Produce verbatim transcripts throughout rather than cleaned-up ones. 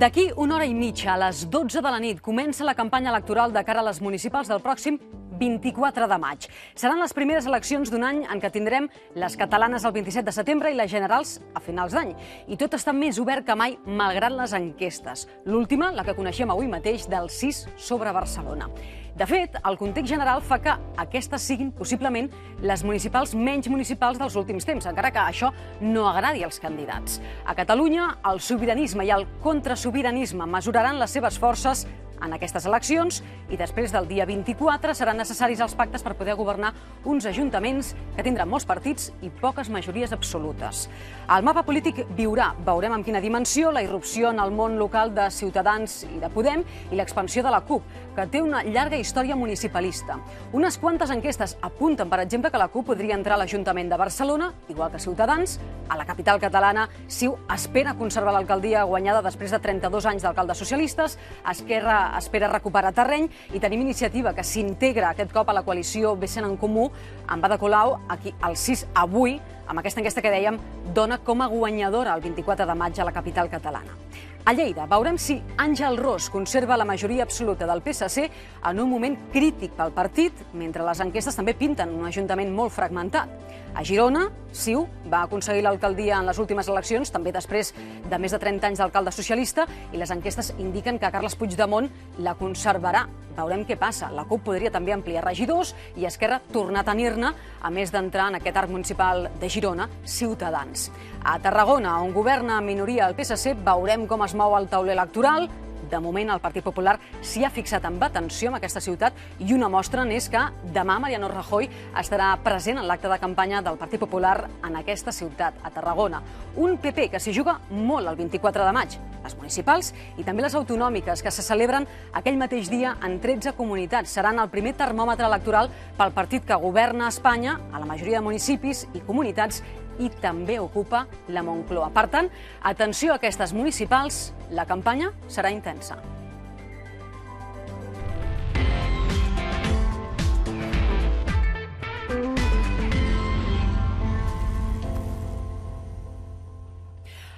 D'aquí una hora i mitja, a les dotze de la nit, comença la campanya electoral de cara a les municipals del pròxim vint-i-quatre de maig. Seran les primeres eleccions d'un any en què tindrem les catalanes el vint-i-set de setembre i les generals a finals d'any. I tot està més obert que mai, malgrat les enquestes. L'última, la que coneixem avui mateix, del sis sobre Barcelona. De fet, el context general fa que aquestes siguin, possiblement, les municipals menys municipals dels últims temps, encara que això no agradi als candidats. A Catalunya, el sobiranisme i el contrasobiranisme mesuraran les seves forces en aquestes eleccions i després del dia vint-i-quatre seran necessaris els pactes per poder governar uns ajuntaments que tindran molts partits i poques majories absolutes. El mapa polític viurà, veurem amb quina dimensió, la irrupció en el món local de Ciutadans i de Podem i l'expansió de la CUP, que té una llarga història municipalista. Unes quantes enquestes apunten, per exemple, que la CUP podria entrar a l'Ajuntament de Barcelona, igual que Ciutadans. A la capital catalana, Ciu espera conservar l'alcaldia guanyada després de trenta-dos anys d'alcaldes socialistes. Esquerra espera recuperar terreny i tenim Iniciativa, que s'integra aquest cop a la coalició Bcn en Comú, amb Ada Colau, aquí al sis avui, amb aquesta enquesta que dèiem, dona com a guanyadora el vint-i-quatre de maig a la capital catalana. A Lleida veurem si Àngel Ros conserva la majoria absoluta del P S C en un moment crític pel partit, mentre les enquestes també pinten un ajuntament molt fragmentat. A Girona, Ciu va aconseguir l'alcaldia en les últimes eleccions, també després de més de trenta anys d'alcalde socialista, i les enquestes indiquen que Carles Puigdemont la conservarà. Veurem què passa. La CUP podria també ampliar regidors i Esquerra tornar a tenir-ne, a més d'entrar en aquest arc municipal de Girona, Ciutadans. A Tarragona, on governa en minoria el P S C, veurem com es mou el tauler electoral. De moment, el Partit Popular s'hi ha fixat amb atenció en aquesta ciutat i una mostra n'és que demà Mariano Rajoy estarà present en l'acte de campanya del Partit Popular en aquesta ciutat, a Tarragona. Un P P que s'hi juga molt el vint-i-quatre de maig, les municipals i també les autonòmiques, que se celebren aquell mateix dia en tretze comunitats. Seran el primer termòmetre electoral pel partit que governa a Espanya, a la majoria de municipis i comunitats, i també ocupa la Moncloa. Per tant, atenció a aquestes municipals, la campanya serà intensa.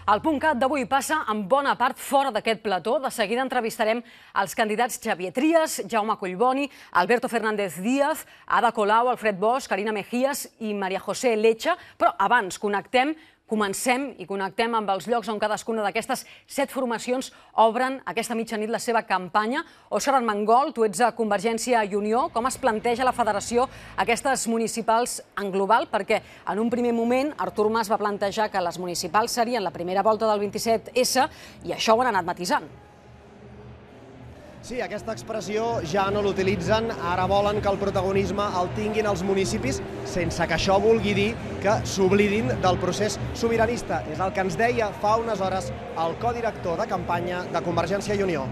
El PUNCAT d'avui passa en bona part fora d'aquest plató. De seguida entrevistarem els candidats Xavier Trias, Jaume Collboni, Alberto Fernández Díaz, Ada Colau, Alfred Bosch, Carina Mejías i María José Lecha. Però abans connectem, comencem i connectem amb els llocs on cadascuna d'aquestes set formacions obren aquesta mitjanit la seva campanya. Òscar Armengol, tu ets a Convergència i Unió. Com es planteja la federació aquestes municipals en global? Perquè en un primer moment Artur Mas va plantejar que les municipals serien la primera volta del vint-i-set essa i això ho han anat matisant. Sí, aquesta expressió ja no l'utilitzen, ara volen que el protagonisme el tinguin els municipis, sense que això vulgui dir que s'oblidin del procés sobiranista. És el que ens deia fa unes hores el codirector de campanya de Convergència i Unió.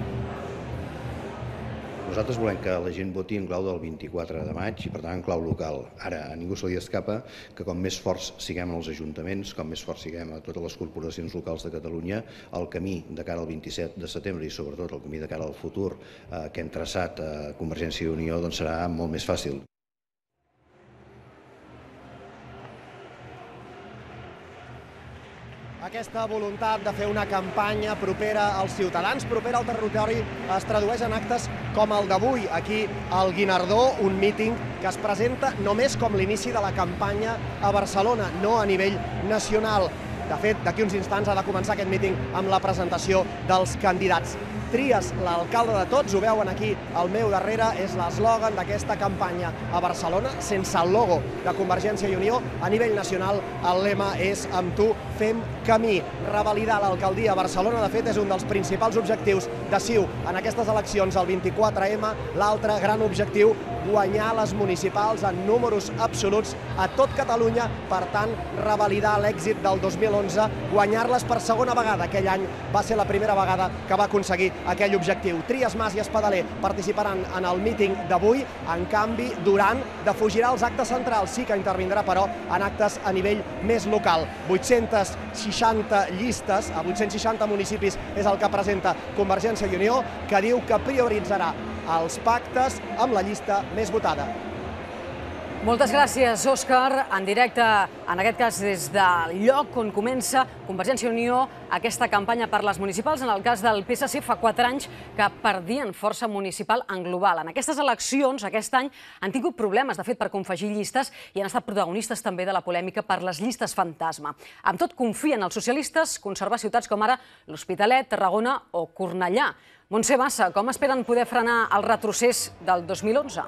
Nosaltres volem que la gent voti en clau del vint-i-quatre de maig i, per tant, en clau local. Ara, a ningú se li escapa que com més forts siguem als ajuntaments, com més forts siguem a totes les corporacions locals de Catalunya, el camí de cara al vint-i-set de setembre i, sobretot, el camí de cara al futur que hem traçat a Convergència i Unió serà molt més fàcil. Aquesta voluntat de fer una campanya propera als ciutadans, propera al territori, es tradueix en actes com el d'avui, aquí al Guinardó, un míting que es presenta només com l'inici de la campanya a Barcelona, no a nivell nacional. De fet, d'aquí uns instants ha de començar aquest míting amb la presentació dels candidats. Trias, l'alcalde de tots, ho veuen aquí al meu darrere, és l'eslògan d'aquesta campanya a Barcelona, sense el logo de Convergència i Unió. A nivell nacional, el lema és "Amb tu fem camí". Revalidar l'alcaldia a Barcelona, de fet, és un dels principals objectius de Ciu en aquestes eleccions, el vint-i-quatre ema. L'altre gran objectiu, guanyar les municipals en números absoluts a tot Catalunya, per tant, revalidar l'èxit del dos mil onze, guanyar-les per segona vegada. Aquell any va ser la primera vegada que va aconseguir aquell objectiu. Trias, Mas i Espadaler participaran en el míting d'avui. En canvi, Duran defugirà els actes centrals. Sí que intervindrà, però, en actes a nivell més local. vuit-centes seixanta llistes a vuit-cents seixanta municipis és el que presenta Convergència i Unió, que diu que prioritzarà els pactes amb la llista més votada. Moltes gràcies, Òscar. En directe, en aquest cas des del lloc on comença Convergència i Unió aquesta campanya per les municipals. En el cas del P S C, fa quatre anys que perdien força municipal en global. En aquestes eleccions, aquest any, han tingut problemes, de fet, per confegir llistes i han estat protagonistes també de la polèmica per les llistes fantasma. Amb tot, confien els socialistes conservar ciutats com ara l'Hospitalet, Tarragona o Cornellà. Montse Bassa, com esperen poder frenar el retrocés del dos mil onze?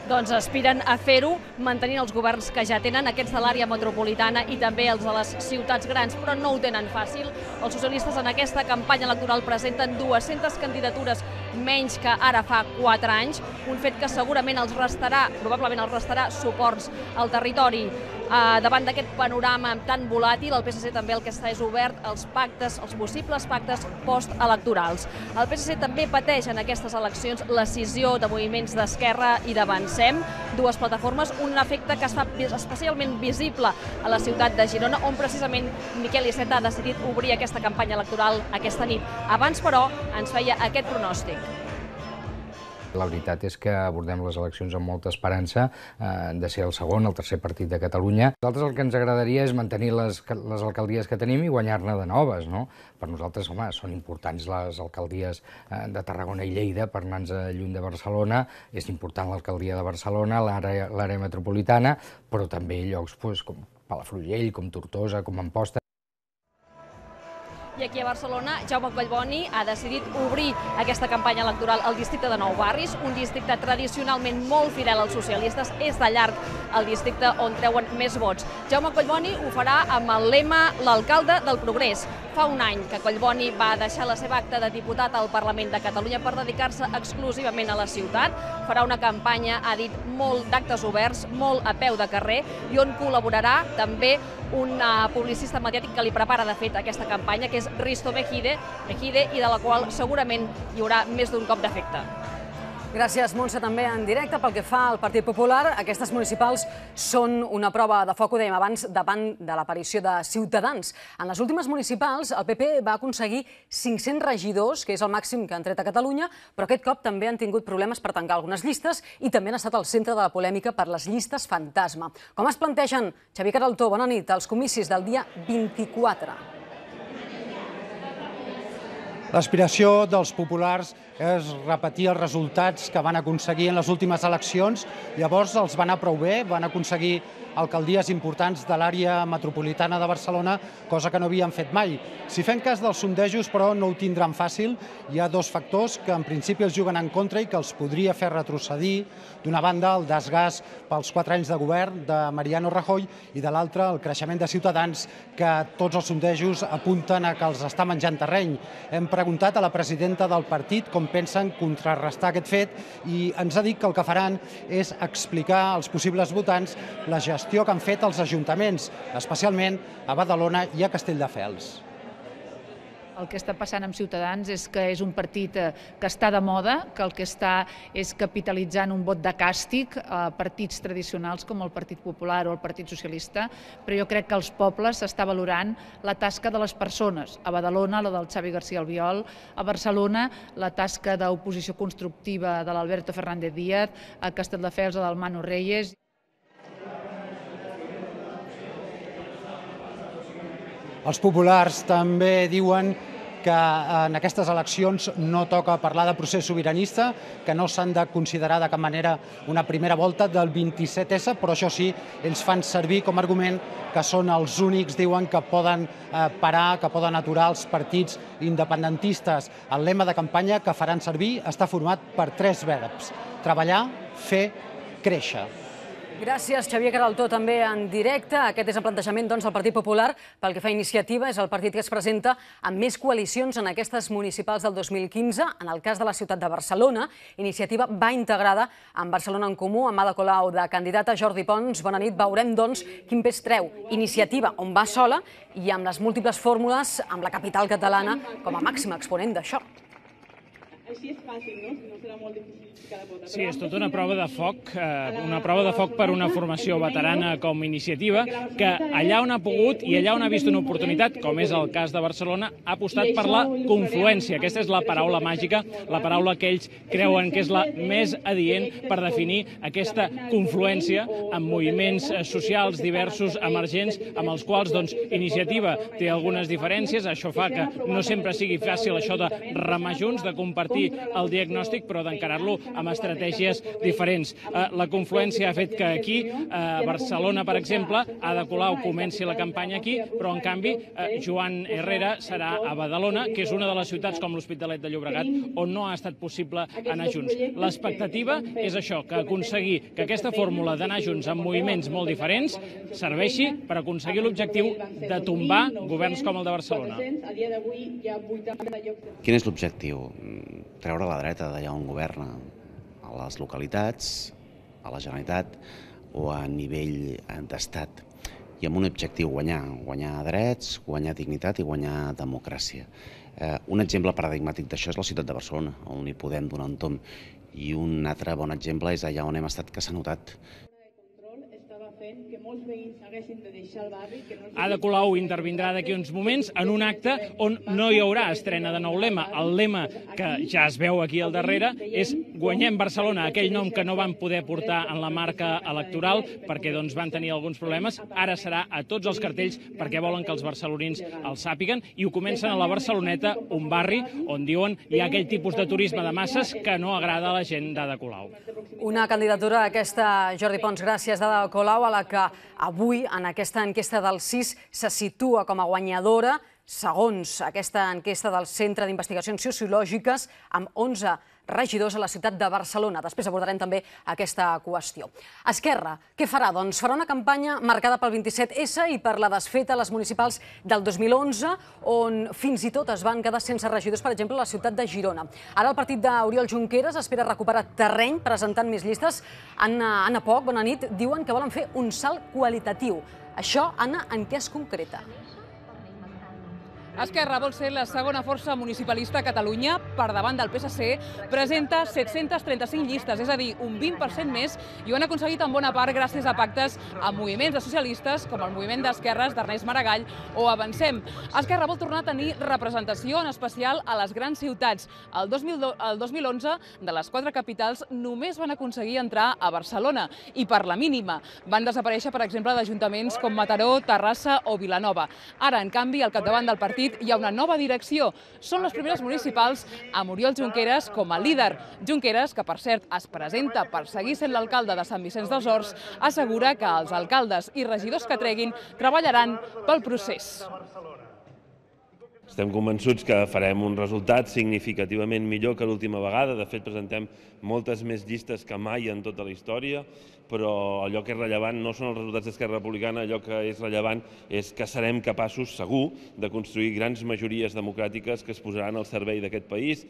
Doncs aspiren a fer-ho mantenint els governs que ja tenen, aquests de l'àrea metropolitana i també els de les ciutats grans, però no ho tenen fàcil. Els socialistes en aquesta campanya electoral presenten dues-centes candidatures menys que ara fa quatre anys, un fet que segurament els restarà, probablement els restarà suports al territori. Davant d'aquest panorama tan volàtil, el P S C també el que està és obert als pactes, als possibles pactes postelectorals. El P S C també pateix en aquestes eleccions l'escissió de moviments d'Esquerra i d'Avancem, dues plataformes, un efecte que es fa especialment visible a la ciutat de Girona, on precisament Miquel Iceta ha decidit obrir aquesta campanya electoral aquesta nit. Abans, però, ens feia aquest pronòstic. La veritat és que abordem les eleccions amb molta esperança de ser el segon, el tercer partit de Catalunya. A nosaltres el que ens agradaria és mantenir les, les alcaldies que tenim i guanyar-ne de noves, no? Per nosaltres, home, són importants les alcaldies de Tarragona i Lleida per anar-nos lluny de Barcelona, és important l'alcaldia de Barcelona, l'àrea metropolitana, però també llocs pues, com Palafrugell, com Tortosa, com Amposta. I aquí a Barcelona, Jaume Collboni ha decidit obrir aquesta campanya electoral al districte de Nou Barris, un districte tradicionalment molt fidel als socialistes, és de llarg el districte on treuen més vots. Jaume Collboni ho farà amb el lema l'alcalde del progrés. Fa un any que Collboni va deixar la seva acta de diputat al Parlament de Catalunya per dedicar-se exclusivament a la ciutat. Farà una campanya, ha dit, molt d'actes oberts, molt a peu de carrer, i on col·laborarà també un publicista mediàtic que li prepara, de fet, aquesta campanya, que és Risto Mejide, Mejide, i de la qual segurament hi haurà més d'un cop d'efecte. Gràcies, Montse, també en directe. Pel que fa al Partit Popular, aquestes municipals són una prova de foc, ho dèiem abans, davant de l'aparició de Ciutadans. En les últimes municipals, el P P va aconseguir cinc-cents regidors, que és el màxim que han tret a Catalunya, però aquest cop també han tingut problemes per tancar algunes llistes i també han estat al centre de la polèmica per les llistes fantasma. Com es plantegen, Xavier Queraltó, bona nit, els comicis del dia vint-i-quatre? L'aspiració dels populars és repetir els resultats que van aconseguir en les últimes eleccions. Llavors els va anar prou bé, van aconseguir alcaldies importants de l'àrea metropolitana de Barcelona, cosa que no havien fet mai. Si fem cas dels sondejos, però, no ho tindran fàcil. Hi ha dos factors que en principi els juguen en contra i que els podria fer retrocedir. D'una banda, el desgast pels quatre anys de govern de Mariano Rajoy i de l'altra, el creixement de Ciutadans, que tots els sondejos apunten a que els està menjant terreny. Hem preguntat a la presidenta del partit com pensen contrarrestar aquest fet i ens ha dit que el que faran és explicar als possibles votants la gestió que han fet els ajuntaments, especialment a Badalona i a Castelldefels. El que està passant amb Ciutadans és que és un partit que està de moda, que el que està és capitalitzant un vot de càstig a partits tradicionals com el Partit Popular o el Partit Socialista, però jo crec que els pobles està valorant la tasca de les persones. A Badalona, la del Xavi García Albiol; a Barcelona, la tasca d'oposició constructiva de l'Alberto Fernández Díaz; a Castelldefels, la del Manu Reyes. Els populars també diuen que en aquestes eleccions no toca parlar de procés sobiranista, que no s'han de considerar de cap manera una primera volta del vint-i-set essa, però això sí, ells fan servir com a argument que són els únics, diuen, que poden parar, que poden aturar els partits independentistes. El lema de campanya que faran servir està format per tres verbs: treballar, fer, créixer. Gràcies, Xavier Queraltó, també en directe. Aquest és el plantejament del Partit Popular. Pel que fa a Iniciativa, és el partit que es presenta amb més coalicions en aquestes municipals del dos mil quinze. En el cas de la ciutat de Barcelona, Iniciativa va integrada amb Barcelona en Comú, amb Ada Colau de candidata. Jordi Pons, bona nit. Veurem, doncs, quin pes treu Iniciativa, on va sola, i amb les múltiples fórmules amb la capital catalana com a màxima exponent d'això. Així és fàcil, no? No serà molt difícil cada vota. Sí, és tota una prova de foc, eh, una prova de foc per una formació veterana com Iniciativa, que allà on ha pogut i allà on ha vist una oportunitat, com és el cas de Barcelona, ha apostat per la confluència. Aquesta és la paraula màgica, la paraula que ells creuen que és la més adient per definir aquesta confluència amb moviments socials diversos, emergents, amb els quals doncs, Iniciativa té algunes diferències. Això fa que no sempre sigui fàcil això de remar junts, de compartir el diagnòstic, però d'encarar-lo amb estratègies diferents. La confluència ha fet que aquí, a Barcelona, per exemple, Ada Colau comenci la campanya aquí, però en canvi Joan Herrera serà a Badalona, que és una de les ciutats com l'Hospitalet de Llobregat on no ha estat possible anar junts. L'expectativa és això, que aconseguir que aquesta fórmula d'anar junts amb moviments molt diferents serveixi per aconseguir l'objectiu de tombar governs com el de Barcelona. Quin és l'objectiu? Treure la dreta d'allà on governa, a les localitats, a la Generalitat o a nivell d'estat. I amb un objectiu, guanyar, guanyar drets, guanyar dignitat i guanyar democràcia. Eh, un exemple paradigmàtic d'això és la ciutat de Barcelona, on hi podem donar un tom. I un altre bon exemple és allà on hem estat, que s'ha notat. Ada Colau intervindrà d'aquí uns moments en un acte on no hi haurà estrena de nou lema. El lema que ja es veu aquí al darrere és Guanyem Barcelona, aquell nom que no van poder portar en la marca electoral perquè doncs, van tenir alguns problemes. Ara serà a tots els cartells perquè volen que els barcelonins el sàpiguen i ho comencen a la Barceloneta, un barri on diuen hi ha aquell tipus de turisme de masses que no agrada a la gent d'Ada Colau. Una candidatura aquesta, Jordi Pons, gràcies d'Ada Colau, a la que avui en aquesta enquesta del C I S se situa com a guanyadora, segons aquesta enquesta del Centre d'Investigacions Sociològiques, amb onze regidors a la ciutat de Barcelona. Després abordarem també aquesta qüestió. Esquerra, què farà? Doncs farà una campanya marcada pel vint-i-set essa i per la desfeta a les municipals del dos mil onze, on fins i tot es van quedar sense regidors, per exemple, a la ciutat de Girona. Ara el partit d'Oriol Junqueras espera recuperar terreny presentant més llistes. Anna, Anna Poch, bona nit, diuen que volen fer un salt qualitatiu. Això, Anna, en què es concreta? Esquerra vol ser la segona força municipalista a Catalunya, per davant del P S C, presenta set-cents trenta-cinc llistes, és a dir, un vint per cent més, i ho han aconseguit en bona part gràcies a pactes amb moviments de socialistes, com el moviment d'esquerres d'Ernest Maragall o Avancem. Esquerra vol tornar a tenir representació, en especial a les grans ciutats. El dos mil onze, de les quatre capitals, només van aconseguir entrar a Barcelona, i per la mínima. Van desaparèixer, per exemple, d'ajuntaments com Mataró, Terrassa o Vilanova. Ara, en canvi, al capdavant del partit hi ha una nova direcció. Són les primeres municipals amb Oriol Junqueras com a líder. Junqueras, que per cert es presenta per seguir sent l'alcalde de Sant Vicenç dels Horts, assegura que els alcaldes i regidors que treguin treballaran pel procés. Estem convençuts que farem un resultat significativament millor que l'última vegada. De fet, presentem moltes més llistes que mai en tota la història, però allò que és rellevant no són els resultats d'Esquerra Republicana, allò que és rellevant és que serem capaços, segur, de construir grans majories democràtiques que es posaran al servei d'aquest país.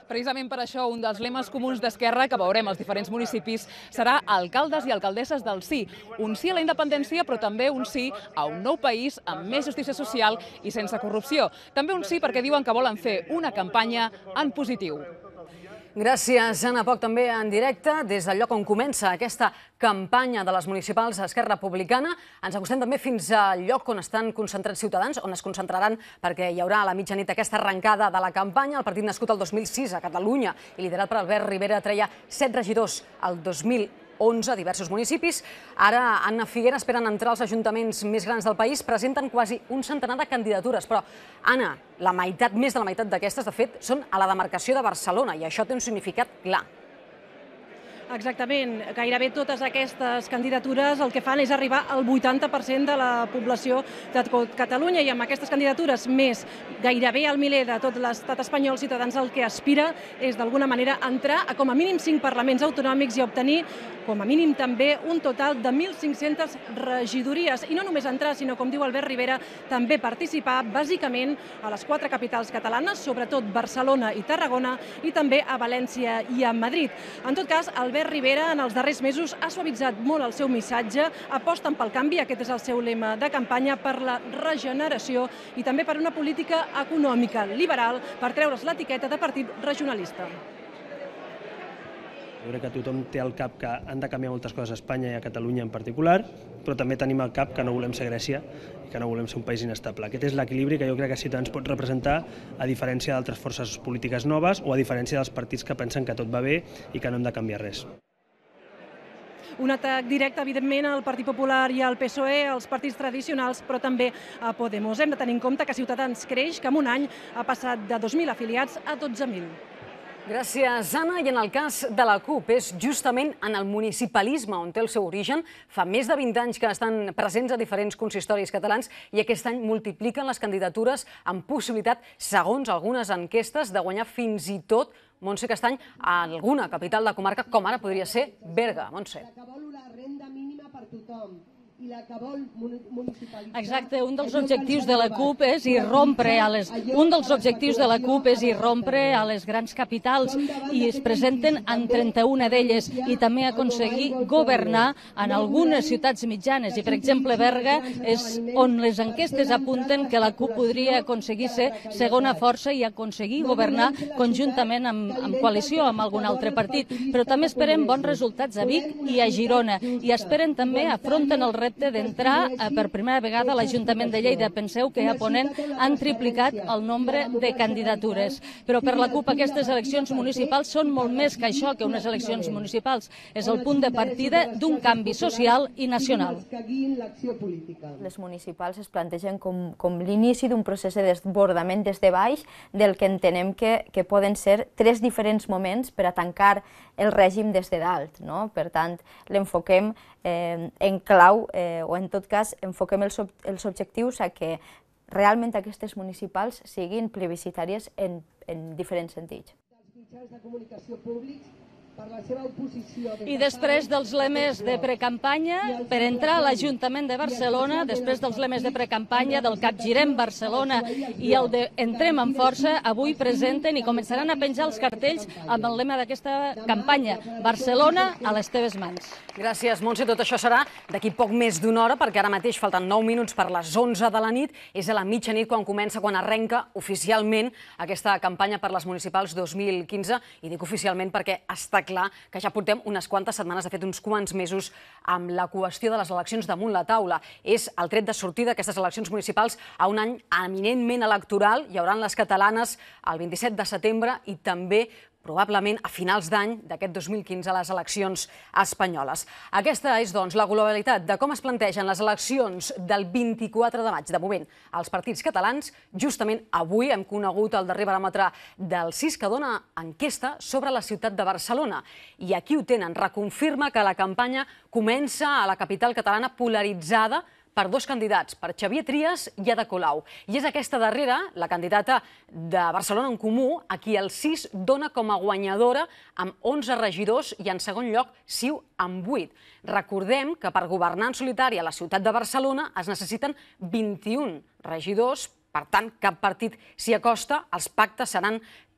Precisament per això, un dels lemes comuns d'Esquerra que veurem als diferents municipis serà alcaldes i alcaldesses del sí. Un sí a la independència, però també un sí a un nou país amb més justícia social i sense corrupció. També un sí perquè diuen que volen fer una campanya en positiu. Gràcies, Anna Poch, també en directe, des del lloc on comença aquesta campanya de les municipals d'Esquerra Republicana. Ens acostem també fins al lloc on estan concentrats ciutadans, on es concentraran perquè hi haurà a la mitjanit aquesta arrencada de la campanya. El partit nascut el dos mil sis a Catalunya i liderat per Albert Rivera treia set regidors al dos mil onze a diversos municipis. Ara, Anna Figuera, esperen entrar als ajuntaments més grans del país, presenten quasi un centenar de candidatures, però, Anna, la meitat, més de la meitat d'aquestes, de fet, són a la demarcació de Barcelona, i això té un significat clar. Exactament. Gairebé totes aquestes candidatures el que fan és arribar al vuitanta per cent de la població de tot Catalunya, i amb aquestes candidatures més gairebé al miler de tot l'estat espanyol, Ciutadans el que aspira és d'alguna manera entrar a com a mínim cinc parlaments autonòmics i obtenir com a mínim també un total de mil cinc-centes regidories. I no només entrar, sinó, com diu Albert Rivera, també participar bàsicament a les quatre capitals catalanes, sobretot Barcelona i Tarragona, i també a València i a Madrid. En tot cas, Albert Albert Rivera en els darrers mesos ha suavitzat molt el seu missatge, aposten pel canvi, aquest és el seu lema de campanya, per la regeneració i també per una política econòmica liberal per treure's l'etiqueta de partit regionalista. Jo crec que tothom té al cap que han de canviar moltes coses a Espanya i a Catalunya en particular, però també tenim al cap que no volem ser Grècia i que no volem ser un país inestable. Aquest és l'equilibri que jo crec que Ciutadans pot representar, a diferència d'altres forces polítiques noves o a diferència dels partits que pensen que tot va bé i que no hem de canviar res. Un atac directe, evidentment, al Partit Popular i al P S O E, als partits tradicionals, però també a Podemos. Hem de tenir en compte que Ciutadans creix, que en un any ha passat de dos mil afiliats a dotze mil. Gràcies, Anna. I en el cas de la CUP, és justament en el municipalisme on té el seu origen. Fa més de vint anys que estan presents a diferents consistoris catalans i aquest any multipliquen les candidatures amb possibilitat, segons algunes enquestes, de guanyar fins i tot, Montse Castany, a alguna capital de comarca, com ara podria ser Berga. Montse. Que vol una renda mínima per tothom. I la que vol municipalitzar... Exacte, un dels objectius de la CUP és irrompre a les... Un dels objectius de la CUP és irrompre a les grans capitals i es presenten en trenta-una d'elles i també aconseguir governar en algunes ciutats mitjanes. I, per exemple, Berga és on les enquestes apunten que la CUP podria aconseguir ser segona força i aconseguir governar conjuntament amb, amb coalició amb algun altre partit. Però també esperem bons resultats a Vic i a Girona i esperen també, afronten el repte d'entrar per primera vegada a l'Ajuntament de Lleida. Penseu que a Ponent han triplicat el nombre de candidatures. Però per la CUP aquestes eleccions municipals són molt més que això, que unes eleccions municipals. És el punt de partida d'un canvi social i nacional. Les municipals es plantegen com, com l'inici d'un procés de desbordament des de baix, del que entenem que, que poden ser tres diferents moments per a tancar el règim des de dalt, no? Per tant, l'enfoquem eh, en clau, eh, o en tot cas, enfoquem els, ob els objectius a que realment aquestes municipals siguin plebiscitàries en, en diferents sentits. Els mitjans de comunicació públics, per la seva oposició... I després dels lemes de precampanya, per entrar a l'Ajuntament de Barcelona, després dels lemes de precampanya, del Capgirem Barcelona i el de Entrem amb força, avui presenten i començaran a penjar els cartells amb el lema d'aquesta campanya: Barcelona a les teves mans. Gràcies, Montse. Tot això serà d'aquí poc més d'una hora, perquè ara mateix falten nou minuts per les onze de la nit. És a la mitjanit quan comença, quan arrenca oficialment aquesta campanya per les municipals dos mil quinze. I dic oficialment perquè està clar que ja portem unes quantes setmanes, de fet uns quants mesos, amb la qüestió de les eleccions damunt la taula. És el tret de sortida d'aquestes eleccions municipals a un any eminentment electoral. Hi haurà les catalanes el vint-i-set de setembre i també probablement a finals d'any d'aquest dos mil quinze les eleccions espanyoles. Aquesta és, doncs, la globalitat de com es plantegen les eleccions del vint-i-quatre de maig. De moment, els partits catalans, justament avui hem conegut el darrer baròmetre del C I S que dona enquesta sobre la ciutat de Barcelona. I aquí ho tenen, reconfirma que la campanya comença a la capital catalana polaritzada per dos candidats, per Xavier Trias i Ada Colau. I és aquesta darrera, la candidata de Barcelona en Comú, a qui el C I S dona com a guanyadora amb onze regidors i en segon lloc Ciu amb vuit. Recordem que per governar en solitari a la ciutat de Barcelona es necessiten vint-i-un regidors, per tant cap partit s'hi acosta, els pactes seran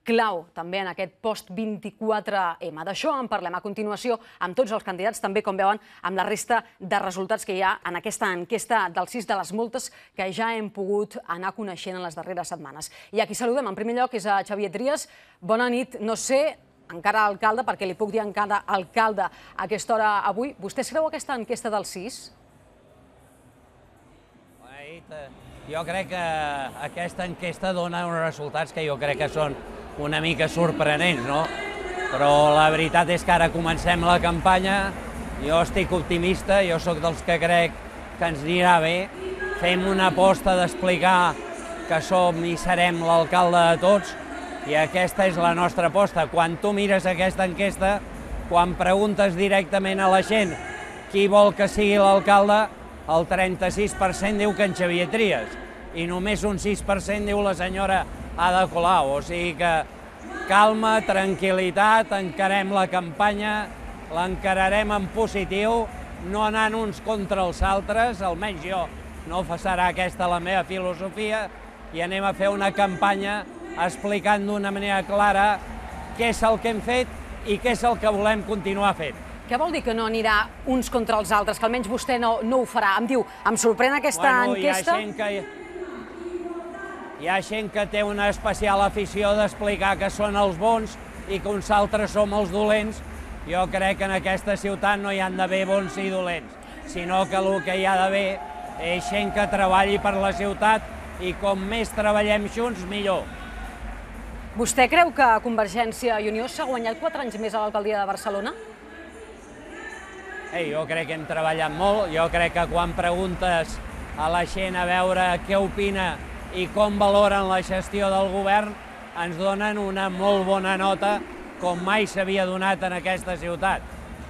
clau també en aquest post vint-i-quatre ema. D'això en parlem a continuació amb tots els candidats, també, com veuen, amb la resta de resultats que hi ha en aquesta enquesta del C I S, de les moltes que ja hem pogut anar coneixent en les darreres setmanes. I aquí saludem, en primer lloc, és a Xavier Trias. Bona nit. No sé, encara alcalde, perquè li puc dir encara alcalde a aquesta hora avui. Vostè es creu aquesta enquesta del C I S? Jo crec que aquesta enquesta dona uns resultats que jo crec que són una mica sorprenents, no? Però la veritat és que ara comencem la campanya, jo estic optimista, jo sóc dels que crec que ens anirà bé, fem una aposta d'explicar que som i serem l'alcalde de tots, i aquesta és la nostra aposta. Quan tu mires aquesta enquesta, quan preguntes directament a la gent qui vol que sigui l'alcalde, el trenta-sis per cent diu que en Xavier Trias, i només un sis per cent diu la senyora Ada Colau, o sigui que calma, tranquil·litat, encarem la campanya, l'encararem en positiu, no anant uns contra els altres, almenys jo no serà aquesta la meva filosofia, i anem a fer una campanya explicant d'una manera clara què és el que hem fet i què és el que volem continuar fent. Què vol dir que no anirà uns contra els altres, que almenys vostè no ho farà? Em diu, em sorprèn aquesta enquesta... Hi ha gent que té una especial afició d'explicar que són els bons i que uns altres som els dolents. Jo crec que en aquesta ciutat no hi han d'haver bons i dolents, sinó que el que hi ha d'haver és gent que treballi per la ciutat i com més treballem junts, millor. Vostè creu que Convergència i Unió s'ha guanyat quatre anys més a l'alcaldia de Barcelona? Ei, jo crec que hem treballat molt, jo crec que quan preguntes a la gent a veure què opina i com valoren la gestió del govern, ens donen una molt bona nota, com mai s'havia donat en aquesta ciutat.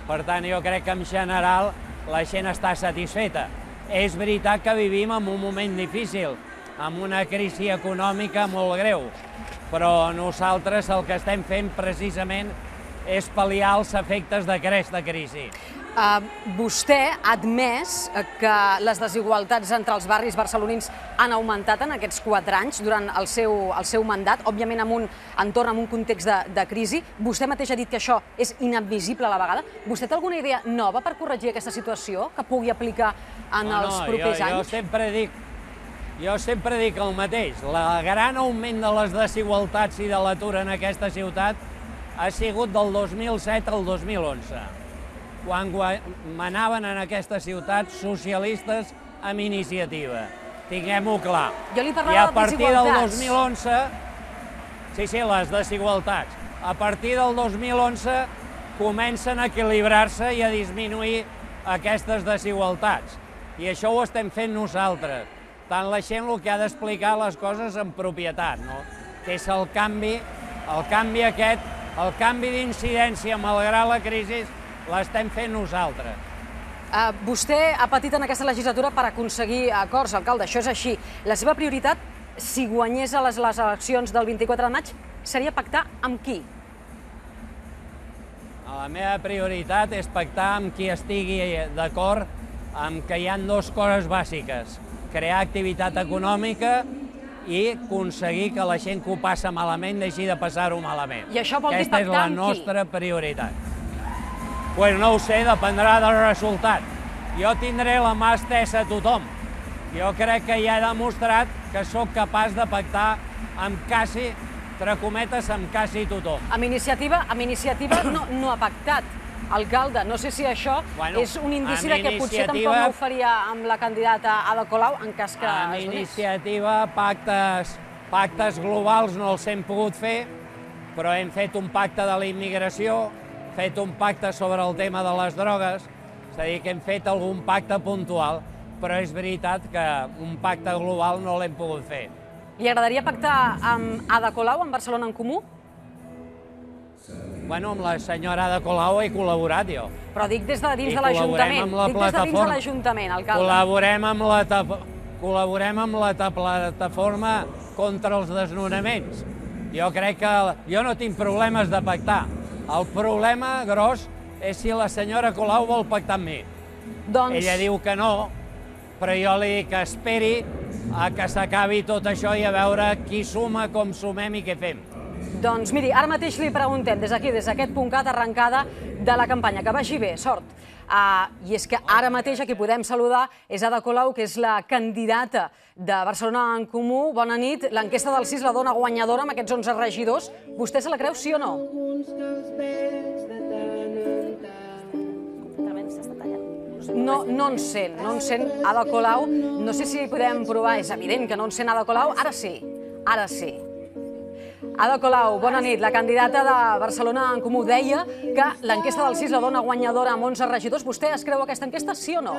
Per tant, jo crec que en general la gent està satisfeta. És veritat que vivim en un moment difícil, amb una crisi econòmica molt greu, però nosaltres el que estem fent precisament és pal·liar els efectes d'aquesta crisi. Uh, vostè ha admès que les desigualtats entre els barris barcelonins han augmentat en aquests quatre anys durant el seu, el seu mandat, òbviament en un entorn, en un context de, de crisi. Vostè mateix ha dit que això és inadmissible a la vegada. Vostè té alguna idea nova per corregir aquesta situació que pugui aplicar en no, els propers no, jo, anys? Jo sempre dic, jo sempre dic el mateix. El gran augment de les desigualtats i de l'atur en aquesta ciutat ha sigut del dos mil set al dos mil onze. Quan manaven en aquesta ciutat socialistes amb iniciativa. Tinguem-ho clar. Jo li parlava I a partir del dos mil desigualtats. onze, sí, sí, les desigualtats. A partir del dos mil onze comencen a equilibrar-se i a disminuir aquestes desigualtats. I això ho estem fent nosaltres. Tant la gent el que ha d'explicar les coses en propietat, no? Que és el canvi, el canvi aquest, el canvi d'incidència malgrat la crisi, l'estem fent nosaltres. Uh, vostè ha patit en aquesta legislatura per aconseguir acords, alcalde, això és així. La seva prioritat, si guanyés a les, les eleccions del vint-i-quatre de maig, seria pactar amb qui? La meva prioritat és pactar amb qui estigui d'acord amb que hi ha dues coses bàsiques. Crear activitat econòmica i aconseguir que la gent que ho passa malament deixi de passar-ho malament. I això vol dir Aquesta pactar és la amb qui? nostra prioritat. Pues no ho sé, dependrà del resultat. Jo tindré la mà estesa a tothom. Jo crec que ja he demostrat que sóc capaç de pactar amb quasi, entre cometes, amb quasi tothom. Amb iniciativa, amb iniciativa no, no ha pactat, alcalde. No sé si això bueno, és un indici de que potser tampoc no ho faria amb la candidata Ada Colau, en cas que amb es donés. iniciativa, pactes, pactes globals no els hem pogut fer, però hem fet un pacte de la immigració, fet un pacte sobre el tema de les drogues, és a dir, que hem fet algun pacte puntual, però és veritat que un pacte global no l'hem pogut fer. Li agradaria pactar amb Ada Colau, amb Barcelona en Comú? Bueno, amb la senyora Ada Colau he col·laborat jo. Però dic des de dins I de l'Ajuntament. col·laborem amb la Dic des de dins de plataforma. l'Ajuntament, alcalde. Col·laborem amb la, col·laborem amb la plataforma contra els desnonaments. Jo crec que jo no tinc problemes de pactar. El problema gros és si la senyora Colau vol pactar amb mi. Doncs... Ella diu que no, però jo li dic que esperi a que s'acabi tot això i a veure qui suma, com sumem i què fem. Doncs miri, ara mateix li preguntem, des d'aquí, des d'aquest punt cat arrencada de la campanya, que vagi bé, sort. Uh, I és que ara mateix a qui podem saludar és Ada Colau, que és la candidata de Barcelona en Comú. Bona nit. L'enquesta del sis la dona guanyadora amb aquests onze regidors. Vostè se la creu, sí o no? No, no en sent, no en sent Ada Colau. No sé si podem provar, és evident que no en sent Ada Colau. Ara sí, ara sí. Ada Colau, bona nit. La candidata de Barcelona en Comú deia que l'enquesta del sis la dona guanyadora amb onze regidors. Vostè es creu aquesta enquesta, sí o no?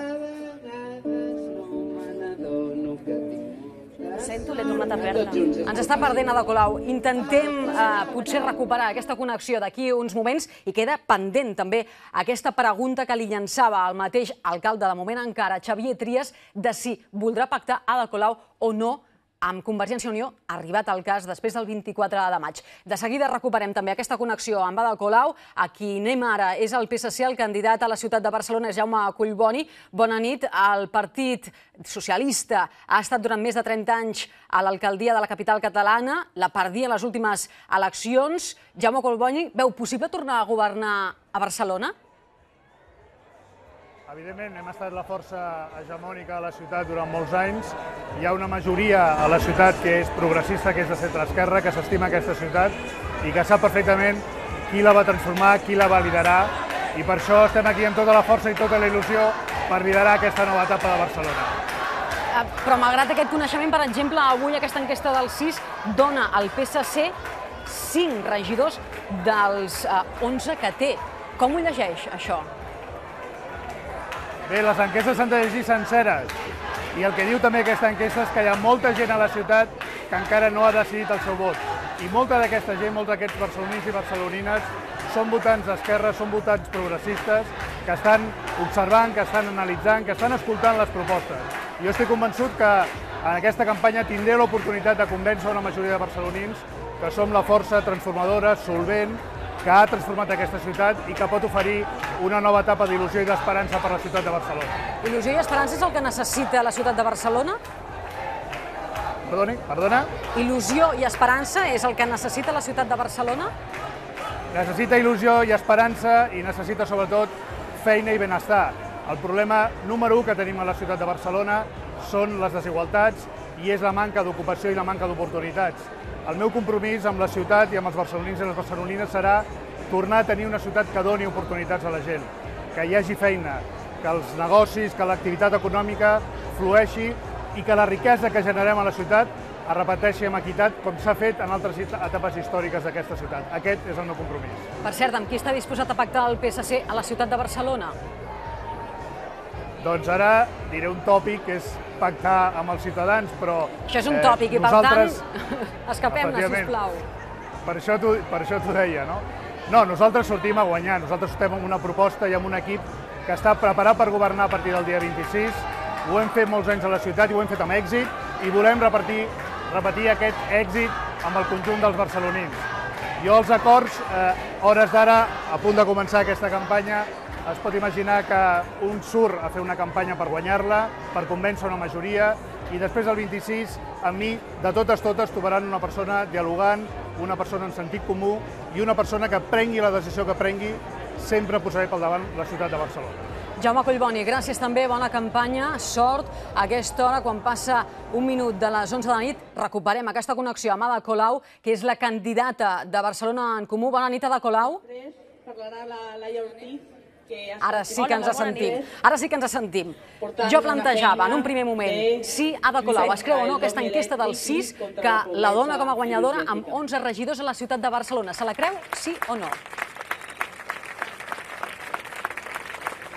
Sento, l'he tornat a perdre. Ens està perdent Ada Colau. Intentem eh, potser recuperar aquesta connexió d'aquí uns moments i queda pendent també aquesta pregunta que li llançava el mateix alcalde de moment encara, Xavier Trias, de si voldrà pactar Ada Colau o no amb Convergència i Unió ha arribat al cas després del vint-i-quatre de maig. De seguida recuperem també aquesta connexió amb Ada Colau. A qui anem ara és el P S C, el candidat a la ciutat de Barcelona és Jaume Collboni. Bona nit. El Partit Socialista ha estat durant més de trenta anys a l'alcaldia de la capital catalana, la perdia en les últimes eleccions. Jaume Collboni, veu possible tornar a governar a Barcelona? Evidentment, hem estat la força hegemònica a la ciutat durant molts anys. Hi ha una majoria a la ciutat que és progressista, que és de centre-esquerra, que s'estima aquesta ciutat i que sap perfectament qui la va transformar, qui la va liderar. I per això estem aquí amb tota la força i tota la il·lusió per liderar aquesta nova etapa de Barcelona. Però malgrat aquest coneixement, per exemple, avui aquesta enquesta del sis dona al P S C cinc regidors dels onze que té. Com ho llegeix, això? Bé, les enquestes s'han de llegir senceres i el que diu també aquesta enquesta és que hi ha molta gent a la ciutat que encara no ha decidit el seu vot. I molta d'aquesta gent, molts d'aquests barcelonins i barcelonines són votants d'esquerra, són votants progressistes que estan observant, que estan analitzant, que estan escoltant les propostes. Jo estic convençut que en aquesta campanya tindré l'oportunitat de convèncer una majoria de barcelonins que som la força transformadora, solvent, que ha transformat aquesta ciutat i que pot oferir una nova etapa d'il·lusió i d'esperança per a la ciutat de Barcelona. Il·lusió i esperança és el que necessita la ciutat de Barcelona? Perdoni, perdona? Il·lusió i esperança és el que necessita la ciutat de Barcelona? Necessita il·lusió i esperança i necessita sobretot feina i benestar. El problema número u que tenim a la ciutat de Barcelona són les desigualtats i és la manca d'ocupació i la manca d'oportunitats. El meu compromís amb la ciutat i amb els barcelonins i les barcelonines serà tornar a tenir una ciutat que doni oportunitats a la gent, que hi hagi feina, que els negocis, que l'activitat econòmica flueixi i que la riquesa que generem a la ciutat es repeteixi amb equitat com s'ha fet en altres etapes històriques d'aquesta ciutat. Aquest és el meu compromís. Per cert, amb qui està disposat a pactar el P S C a la ciutat de Barcelona? Doncs ara diré un tòpic, que és pactar amb els ciutadans, però... Això és un tòpic i, per tant, escapem-ne, sisplau. Per això t'ho deia, no? No, nosaltres sortim a guanyar. Nosaltres estem amb una proposta i amb un equip que està preparat per governar a partir del dia vint-i-sis. Ho hem fet molts anys a la ciutat i ho hem fet amb èxit i volem repetir, repetir aquest èxit amb el conjunt dels barcelonins. Jo els acords, eh, hores d'ara, a punt de començar aquesta campanya, es pot imaginar que un surt a fer una campanya per guanyar-la, per convèncer una majoria, i després el vint-i-sis, amb mi, de totes totes, trobaran una persona dialogant, una persona en sentit comú i una persona que prengui la decisió que prengui, sempre posaré pel davant la ciutat de Barcelona. Jaume Collboni, gràcies també, bona campanya, sort. A aquesta hora, quan passa un minut de les onze de la nit, recuperem aquesta connexió amb Ada Colau, que és la candidata de Barcelona en Comú. Bona nit, Ada Colau. Parlarà la Laia Ortiz. Ara sí que ens sentim. Ara sí que ens sentim. Jo plantejava en un primer moment si Ada Colau es creu o no aquesta enquesta del sis que la dona com a guanyadora amb onze regidors a la ciutat de Barcelona. Se la creu, sí o no?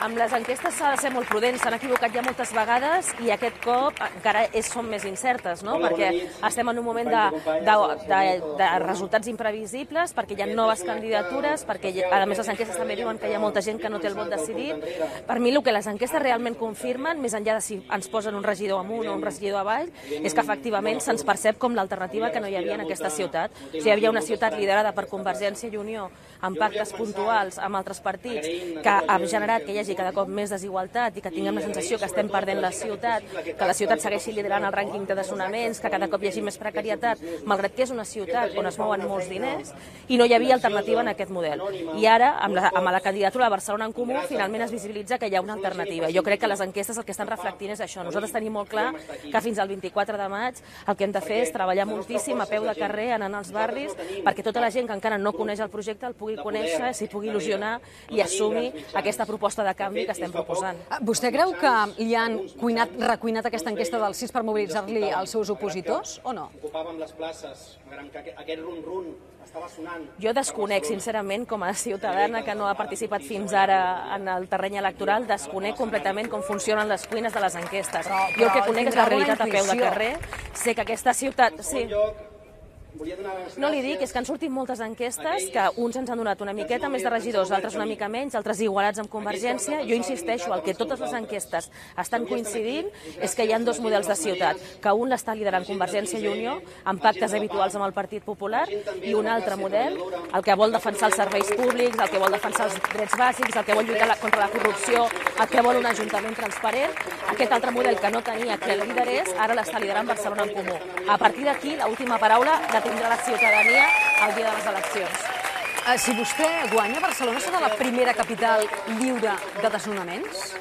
Amb les enquestes s'ha de ser molt prudent, s'han equivocat ja moltes vegades i aquest cop encara són més incertes, no? Perquè estem en un moment de, de, de, de resultats imprevisibles, perquè hi ha noves candidatures, perquè a més les enquestes també diuen que hi ha molta gent que no té el vot decidit. Per mi el que les enquestes realment confirmen, més enllà de si ens posen un regidor amunt o un regidor avall, és que efectivament se'ns percep com l'alternativa que no hi havia en aquesta ciutat. O sigui, hi havia una ciutat liderada per Convergència i Unió, amb pactes puntuals amb altres partits, que ha generat que hi hagi cada cop més desigualtat i que tinguem la sensació que estem perdent la ciutat, que la ciutat segueixi liderant el rànquing de desnonaments, que cada cop hi hagi més precarietat, malgrat que és una ciutat on es mouen molts diners, i no hi havia alternativa en aquest model. I ara, amb la, amb la candidatura de Barcelona en Comú, finalment es visibilitza que hi ha una alternativa. Jo crec que les enquestes el que estan reflectint és això. Nosaltres tenim molt clar que fins al vint-i-quatre de maig el que hem de fer és treballar moltíssim a peu de carrer, anant als barris, perquè tota la gent que encara no coneix el projecte el pugui conèixer, s'hi pugui il·lusionar i assumir aquesta proposta de canvi que estem proposant. Vostè creu que li han cuinat, recuinat aquesta enquesta del sis per mobilitzar-li els seus opositors o no? Ocupàvem les places, que aquest run-run estava sonant. Jo desconec, sincerament, com a ciutadana que no ha participat fins ara en el terreny electoral, desconec completament com funcionen les cuines de les enquestes. Jo el que conec és la realitat a peu de carrer. Sé que aquesta ciutat... Sí. No li dic, és que han sortit moltes enquestes que uns ens han donat una miqueta més de regidors, altres una mica menys, altres igualats amb Convergència. Jo insisteixo, el que totes les enquestes estan coincidint és que hi ha dos models de ciutat, que un l'està liderant Convergència i Unió, amb pactes habituals amb el Partit Popular, i un altre model, el que vol defensar els serveis públics, el que vol defensar els drets bàsics, el que vol lluitar contra la corrupció, el que vol un ajuntament transparent. Aquest altre model que no tenia que el liderés, ara l'està liderant Barcelona en Comú. A partir d'aquí, l'última paraula la tindrà la ciutadania el dia de les eleccions. Si vostè guanya, Barcelona serà la primera capital lliure de desnonaments?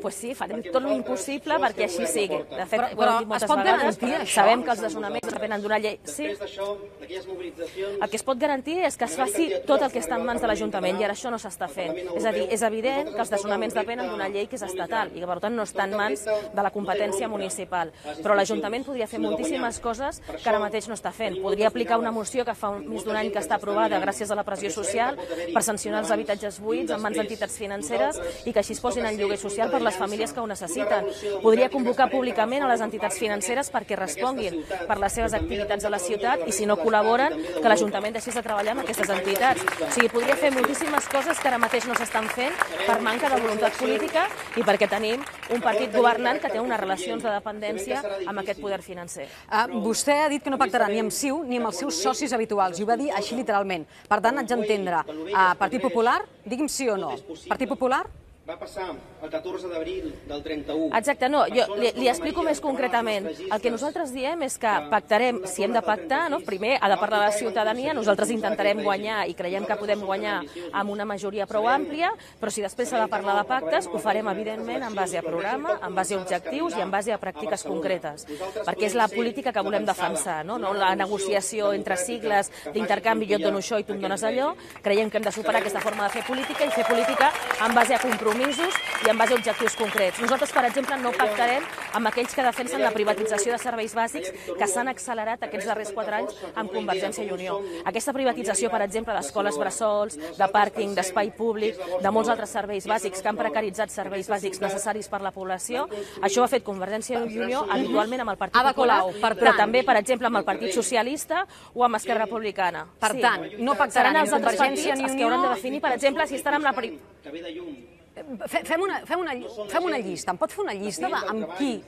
Pues sí, farem tot l'impossible perquè així sigui. De fet, però, ho hem dit moltes es pot vegades, garantir això? Sabem que els desnonaments depenen d'una llei. Sí. El que es pot garantir és que es faci tot el que està en mans de l'Ajuntament i ara això no s'està fent. És a dir, és evident que els desnonaments depenen d'una llei que és estatal i que per tant no està en mans de la competència municipal. Però l'Ajuntament podria fer moltíssimes coses que ara mateix no està fent. Podria aplicar una moció que fa més d'un any que està aprovada gràcies a la pressió social per sancionar els habitatges buits en mans d'entitats financeres i que així es posin en lloguer social per les famílies que ho necessiten. Podria convocar públicament a les entitats financeres perquè responguin per les seves activitats a la ciutat i si no col·laboren, que l'Ajuntament deixés de treballar amb aquestes entitats. O sigui, podria fer moltíssimes coses que ara mateix no s'estan fent per manca de voluntat política i perquè tenim un partit governant que té unes relacions de dependència amb aquest poder financer. Uh, vostè ha dit que no pactarà ni amb C I U ni amb els seus socis habituals, i ho va dir així literalment. Per tant, haig d'entendre, uh, Partit Popular, digui'm sí o no. Partit Popular? Va passar el catorze d'abril del trenta-u. Exacte, no, jo li, li explico més concretament. El que nosaltres diem és que pactarem, si hem de pactar, no? Primer ha de parlar la ciutadania, nosaltres intentarem guanyar i creiem que podem guanyar amb una majoria prou àmplia, però si després s'ha de parlar de pactes, ho farem evidentment en base a programa, en base a objectius i en base a pràctiques concretes, perquè és la política que volem defensar, no, no la negociació entre sigles d'intercanvi, jo et dono això i tu em dones allò. Creiem que hem de superar aquesta forma de fer política i fer política en base a compromisos i en base a objectius concrets. Nosaltres, per exemple, no pactarem amb aquells que defensen la privatització de serveis bàsics que s'han accelerat aquests darrers quatre anys amb Convergència i Unió. Aquesta privatització, per exemple, d'escoles bressols, de pàrquing, d'espai públic, de molts altres serveis bàsics que han precaritzat serveis bàsics necessaris per la població, això ho ha fet Convergència i Unió habitualment amb el Partit Popular, però també, per exemple, amb el Partit Socialista o amb Esquerra Republicana. Per tant, no pactaran els altres partits els que hauran de definir, per exemple, si estan amb la... Fem una, fem, una, fem una llista. Em pot fer una llista de amb qui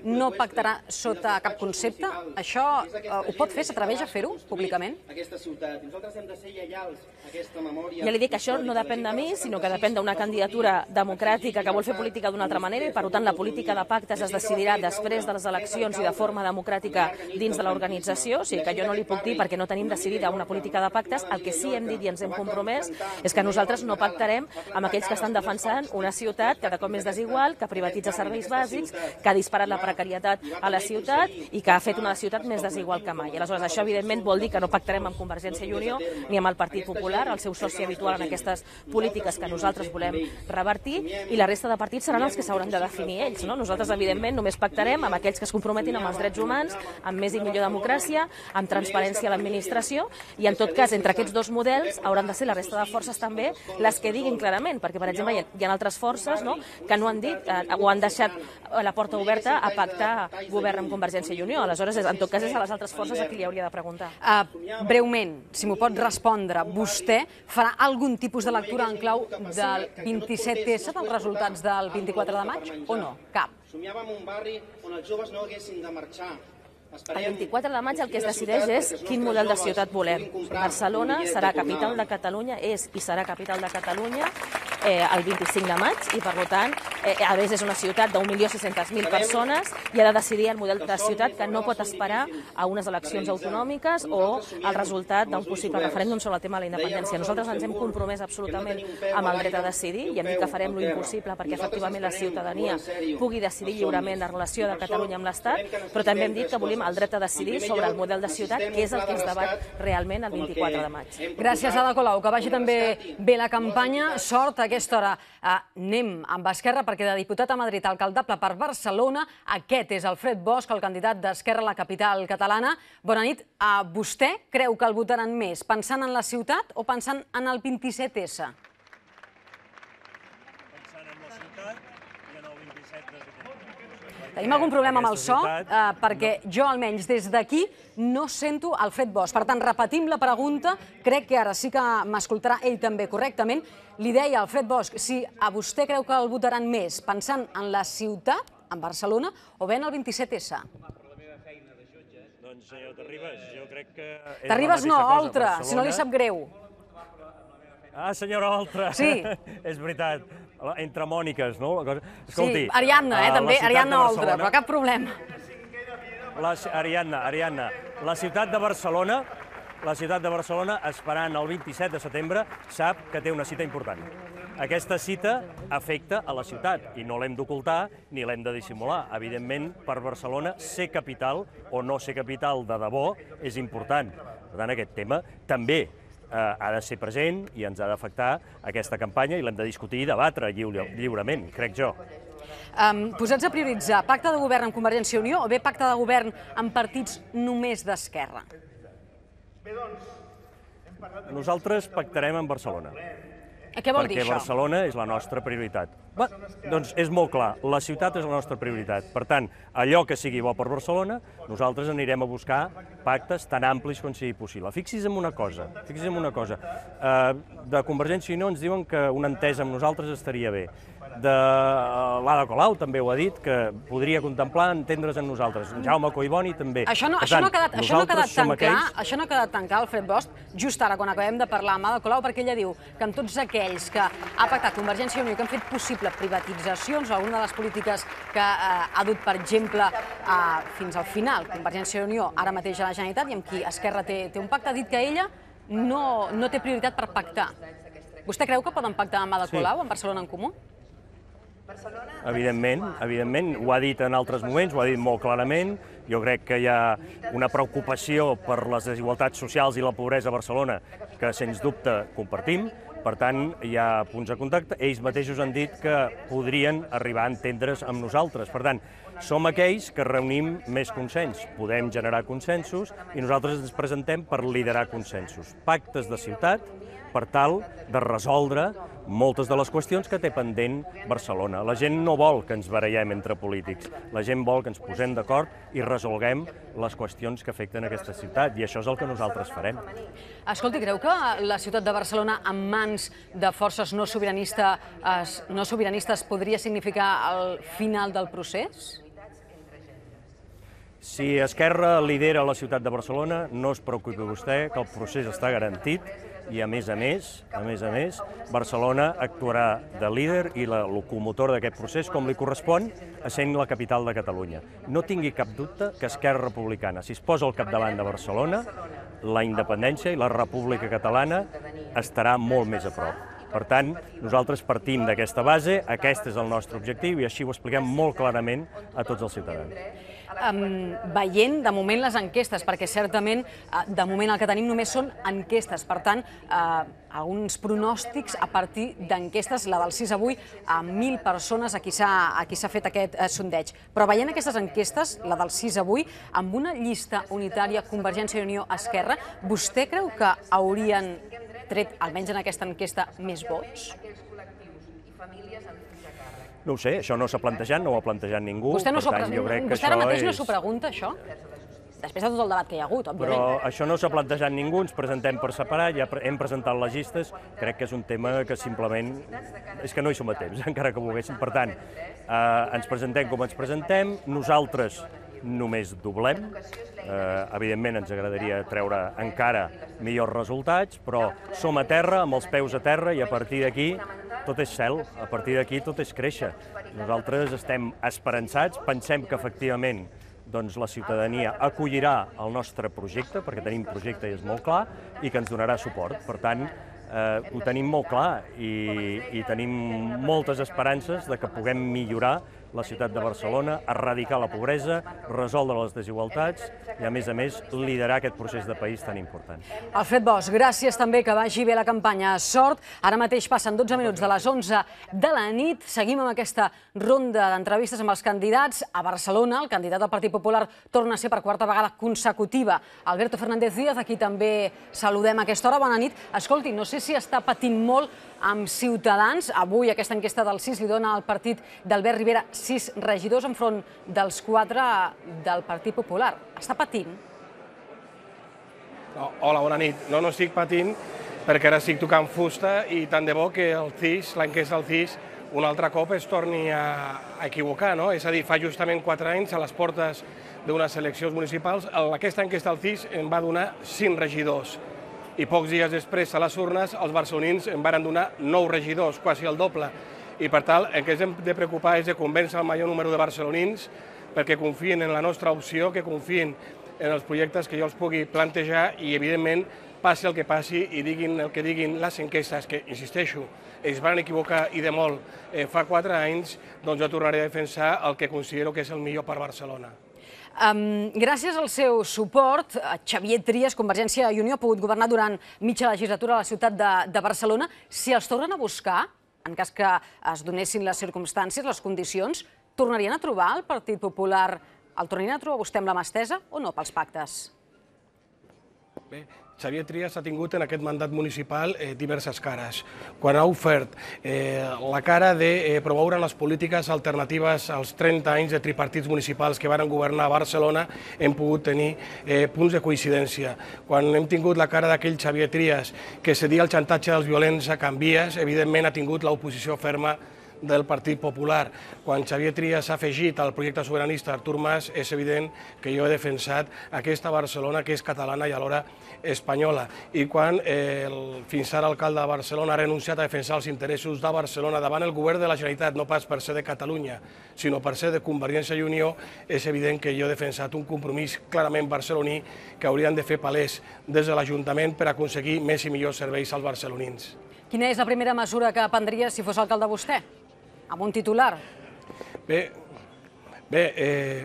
no pactarà sota cap concepte? Això eh, ho pot fer? S'atreveix a fer-ho públicament? Nosaltres hem de ser lleials a aquesta memòria. Ja li dic que això no depèn de mi, sinó que depèn d'una candidatura democràtica que vol fer política d'una altra manera i, per tant, la política de pactes es decidirà després de les eleccions i de forma democràtica dins de l'organització. O sigui que jo no li puc dir perquè no tenim decidida una política de pactes. El que sí hem dit i ens hem compromès és que nosaltres no pactarem amb aquells que estan defensant una ciutat cada cop més desigual, que privatitza serveis bàsics, que ha disparat la precarietat a la ciutat i que ha fet una ciutat més desigual que mai. Aleshores, això evidentment vol dir que no pactarem amb Convergència i Unió ni amb el Partit Popular, el seu soci habitual en aquestes polítiques que nosaltres volem revertir, i la resta de partits seran els que s'hauran de definir ells. No? Nosaltres, evidentment, només pactarem amb aquells que es comprometin amb els drets humans, amb més i millor democràcia, amb transparència a l'administració, i en tot cas, entre aquests dos models hauran de ser la resta de forces també les que diguin clarament, perquè, per exemple, hi ha altres forces no? que no han dit eh, o han deixat la porta oberta a pactar govern amb Convergència i Unió. Aleshores, en tot cas, és a les altres forces a qui li hauria de preguntar. Uh, breument, si m'ho pot respondre, vostè farà algun tipus de lectura en clau del vint-i-set essa dels resultats del vint-i-quatre de maig o no? Cap. Somiàvem un barri on els joves no haguessin de marxar. El vint-i-quatre de maig el que es decideix és quin model de ciutat volem. Barcelona serà capital de Catalunya, és i serà capital de Catalunya eh, el vint-i-cinc de maig i, per tant, eh, a més és una ciutat d'un milió sis-centes mil persones i ha de decidir el model de ciutat que no pot esperar a unes eleccions autonòmiques o al resultat d'un possible referèndum sobre el tema de la independència. Nosaltres ens hem compromès absolutament amb el dret a decidir i hem dit que farem lo impossible perquè efectivament la ciutadania pugui decidir lliurement la relació de Catalunya amb l'Estat, però també hem dit que volem el dret a decidir sobre el model de ciutat, que és el que es debat realment el vint-i-quatre de maig. Gràcies, Ada Colau. Que vagi també bé la campanya. Sort a aquesta hora. Uh, anem amb Esquerra, perquè de diputat a Madrid alcaldable per Barcelona, aquest és Alfred Bosch, el candidat d'Esquerra a la capital catalana. Bona nit. Uh, vostè creu que el votaran més pensant en la ciutat o pensant en el vint-i-set essa? Pensant en la ciutat i en el vint-i-set de setembre. Tenim algun problema amb el so, perquè jo almenys des d'aquí no sento Alfred Bosch. Per tant, repetim la pregunta, crec que ara sí que m'escoltarà ell també correctament. Li deia Alfred Bosch si a vostè creu que el votaran més pensant en la ciutat, en Barcelona, o bé en el vint-i-set essa. Doncs, senyor Terribas, jo crec que... Terribas no, Oltra, si no li sap greu. Ah, senyora Oltra. Sí. És veritat. Entre Mòniques, no? Sí, Ariadna, eh, també, Ariadna Oltra, però cap problema. Ariadna, Ariadna, la ciutat de Barcelona, la ciutat de Barcelona, esperant el vint-i-set de setembre, sap que té una cita important. Aquesta cita afecta a la ciutat i no l'hem d'ocultar ni l'hem de dissimular. Evidentment, per Barcelona, ser capital o no ser capital de debò és important. Per tant, aquest tema també ha de ser present i ens ha d'afectar aquesta campanya i l'hem de discutir i debatre lliurement, crec jo. Posats a prioritzar, pacte de govern amb Convergència i Unió o bé pacte de govern amb partits només d'esquerra? Nosaltres pactarem amb Barcelona. Què vol dir això? Perquè Barcelona és la nostra prioritat. Doncs és molt clar, la ciutat és la nostra prioritat. Per tant, allò que sigui bo per Barcelona, nosaltres anirem a buscar pactes tan amplis com sigui possible. Fixi's en una cosa, fixi's en una cosa. De Convergència i Unió ens diuen que una entesa amb nosaltres estaria bé. De l'Ada Colau també ho ha dit, que podria contemplar entendre's amb nosaltres. Jaume Collboni també. Això no ha quedat tan clar, això no ha quedat tan clar, Alfred Bosch, just ara quan acabem de parlar amb Ada Colau, perquè ella diu que amb tots aquells que ha pactat Convergència i Unió, que han fet possible privatitzacions, alguna de les polítiques que ha dut, per exemple, fins al final, Convergència i Unió, ara mateix a la Generalitat, i amb qui Esquerra té un pacte, ha dit que ella no té prioritat per pactar. Vostè creu que poden pactar amb Ada Colau, amb Barcelona en Comú? Evidentment, evidentment, ho ha dit en altres moments, ho ha dit molt clarament. Jo crec que hi ha una preocupació per les desigualtats socials i la pobresa a Barcelona que, sens dubte, compartim. Per tant, hi ha punts de contacte. Ells mateixos han dit que podrien arribar a entendre's amb nosaltres. Per tant, som aquells que reunim més consens. Podem generar consensos i nosaltres ens presentem per liderar consensos. Pactes de ciutat per tal de resoldre moltes de les qüestions que té pendent Barcelona. La gent no vol que ens barallem entre polítics. La gent vol que ens posem d'acord i resolguem les qüestions que afecten aquesta ciutat, i això és el que nosaltres farem. Escolti, creu que la ciutat de Barcelona en mans de forces no sobiranistes, no sobiranistes podria significar el final del procés? Si Esquerra lidera la ciutat de Barcelona, no es preocupi vostè, que el procés està garantit i, a més a més, a més a més, Barcelona actuarà de líder i la locomotora d'aquest procés, com li correspon, essent la capital de Catalunya. No tingui cap dubte que Esquerra Republicana, si es posa al capdavant de Barcelona, la independència i la República Catalana estarà molt més a prop. Per tant, nosaltres partim d'aquesta base, aquest és el nostre objectiu i així ho expliquem molt clarament a tots els ciutadans. Veient, de moment, les enquestes, perquè certament, de moment, el que tenim només són enquestes. Per tant, alguns pronòstics a partir d'enquestes, la del sis avui, a mil persones a qui s'ha fet aquest sondeig. Però veient aquestes enquestes, la del sis avui, amb una llista unitària Convergència i Unió-Esquerra, vostè creu que haurien tret, almenys en aquesta enquesta, més vots? No ho sé, això no s'ha plantejat, no ho ha plantejat ningú. Vostè ara mateix no s'ho pregunta, això? Després de tot el debat que hi ha hagut, òbviament. Però això no s'ha plantejat ningú, ens presentem per separat, ja hem presentat les llistes, crec que és un tema que simplement... és que no hi som a temps, encara que volguéssim. Per tant, ens presentem com ens presentem, nosaltres només doblem, evidentment ens agradaria treure encara millors resultats, però som a terra, amb els peus a terra, i a partir d'aquí tot és cel, a partir d'aquí tot és créixer. Nosaltres estem esperançats, pensem que efectivament la ciutadania acollirà el nostre projecte, perquè tenim projecte i és molt clar, i que ens donarà suport. Per tant, ho tenim molt clar i tenim moltes esperances de que puguem millorar la ciutat de Barcelona, erradicar la pobresa, resoldre les desigualtats i, a més a més, liderar aquest procés de país tan important. Alfred Bosch, gràcies també, que vagi bé la campanya. Sort. Ara mateix passen dotze minuts de les onze de la nit. Seguim amb aquesta ronda d'entrevistes amb els candidats. A Barcelona, el candidat del Partit Popular torna a ser per quarta vegada consecutiva Alberto Fernández Díaz, a qui també saludem a aquesta hora. Bona nit. Escolti, no sé si està patint molt amb Ciutadans. Avui aquesta enquesta del sis li dona al partit d'Albert Rivera sis regidors enfront dels quatre del Partit Popular. Està patint? No, hola, bona nit. No, no estic patint perquè ara estic tocant fusta i tant de bo que el C I S, l'enquesta del C I S, un altre cop es torni a equivocar, no? És a dir, fa justament quatre anys, a les portes d'unes eleccions municipals, aquesta enquesta del C I S em va donar cinc regidors i pocs dies després, a les urnes, els barcelonins em van donar nou regidors, quasi el doble. I per tant, el que ens hem de preocupar és de convèncer el major número de barcelonins perquè confien en la nostra opció, que confien en els projectes que jo els pugui plantejar i, evidentment, passi el que passi i diguin el que diguin les enquestes, que, insisteixo, es van equivocar i de molt eh, fa quatre anys, doncs jo tornaré a defensar el que considero que és el millor per Barcelona. Um, gràcies al seu suport, Xavier Trias, Convergència i Unió, ha pogut governar durant mitja legislatura a la ciutat de, de Barcelona. Si els tornen a buscar, en cas que es donessin les circumstàncies, les condicions, tornarien a trobar el Partit Popular, el tornarien a trobar vostè amb la mà estesa o no pels pactes? Bé, Xavier Trias ha tingut en aquest mandat municipal eh, diverses cares. Quan ha ofert eh, la cara de eh, promoure les polítiques alternatives als trenta anys de tripartits municipals que van governar a Barcelona, hem pogut tenir eh, punts de coincidència. Quan hem tingut la cara d'aquell Xavier Trias que cedia el xantatge dels violents a Canvies, evidentment ha tingut l'oposició ferma del Partit Popular. Quan Xavier Trias s'ha afegit al projecte sobiranista Artur Mas, és evident que jo he defensat aquesta Barcelona que és catalana i alhora espanyola. I quan eh, el fins ara alcalde de Barcelona ha renunciat a defensar els interessos de Barcelona davant el govern de la Generalitat, no pas per ser de Catalunya, sinó per ser de Convergència i Unió, és evident que jo he defensat un compromís clarament barceloní que haurien de fer palès des de l'Ajuntament per aconseguir més i millors serveis als barcelonins. Quina és la primera mesura que prendria si fos alcalde vostè? Amb un titular? Bé, bé eh,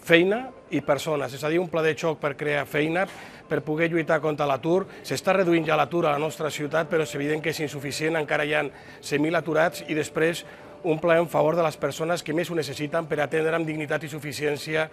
feina i persones, és a dir, un pla de xoc per crear feina, per poder lluitar contra l'atur. S'està reduint ja l'atur a la nostra ciutat, però és evident que és insuficient, encara hi ha cent mil aturats, i després un pla en favor de les persones que més ho necessiten per atendre amb dignitat i suficiència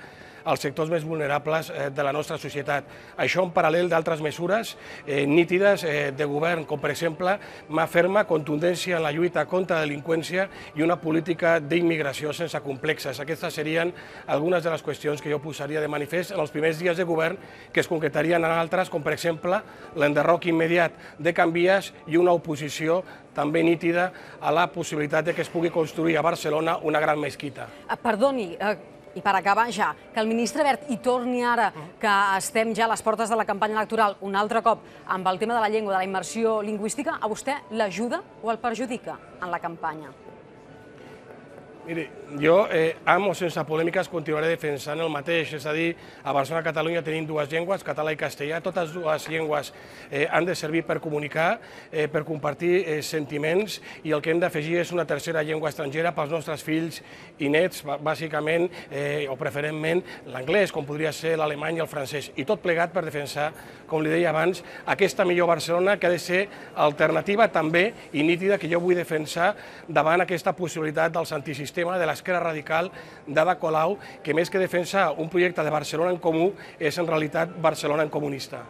als sectors més vulnerables de la nostra societat. Això en paral·lel d'altres mesures eh, nítides eh, de govern, com per exemple mà ferma, contundència en la lluita contra la delinqüència i una política d'immigració sense complexes. Aquestes serien algunes de les qüestions que jo posaria de manifest en els primers dies de govern, que es concretarien en altres, com per exemple l'enderroc immediat de Canvies i una oposició també nítida a la possibilitat de que es pugui construir a Barcelona una gran mesquita. Perdoni, i per acabar ja, que el ministre Wert hi torni ara, que estem ja a les portes de la campanya electoral un altre cop amb el tema de la llengua, de la immersió lingüística, a vostè l'ajuda o el perjudica en la campanya? Miri, jo, eh, amb o sense polèmiques, continuaré defensant el mateix. És a dir, a Barcelona i Catalunya tenim dues llengües, català i castellà. Totes dues llengües eh, han de servir per comunicar, eh, per compartir eh, sentiments, i el que hem d'afegir és una tercera llengua estrangera pels nostres fills i nets, bàsicament, eh, o preferentment, l'anglès, com podria ser l'alemany i el francès. I tot plegat per defensar, com li deia abans, aquesta millor Barcelona que ha de ser alternativa també i nítida, que jo vull defensar davant aquesta possibilitat dels antisistema de l'esquerra radical d'Ada Colau, que més que defensar un projecte de Barcelona en comú, és en realitat Barcelona en comunista.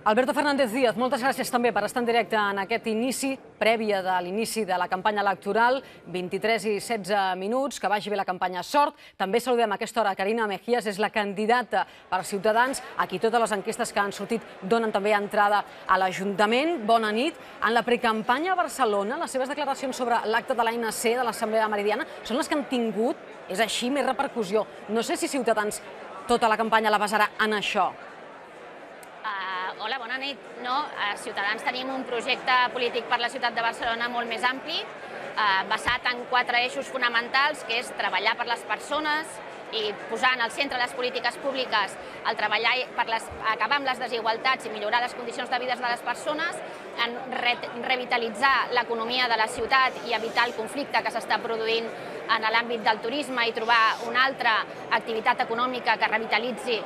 Alberto Fernández Díaz, moltes gràcies també per estar en directe en aquest inici, prèvia de l'inici de la campanya electoral, vint-i-tres i setze minuts, que vagi bé la campanya, sort. També saludem a aquesta hora Carina Mejías, és la candidata per Ciutadans, a qui totes les enquestes que han sortit donen també entrada a l'Ajuntament. Bona nit. En la precampanya a Barcelona, les seves declaracions sobre l'acte de l'A N C de l'Assemblea Meridiana són les que han tingut, és així, més repercussió. No sé si Ciutadans tota la campanya la basarà en això. Hola, bona nit. No, a Ciutadans tenim un projecte polític per la ciutat de Barcelona molt més ampli, basat en quatre eixos fonamentals, que és treballar per les persones i posar en el centre de les polítiques públiques el treballar per acabar amb les desigualtats i millorar les condicions de vida de les persones, en revitalitzar l'economia de la ciutat i evitar el conflicte que s'està produint en l'àmbit del turisme i trobar una altra activitat econòmica que revitalitzi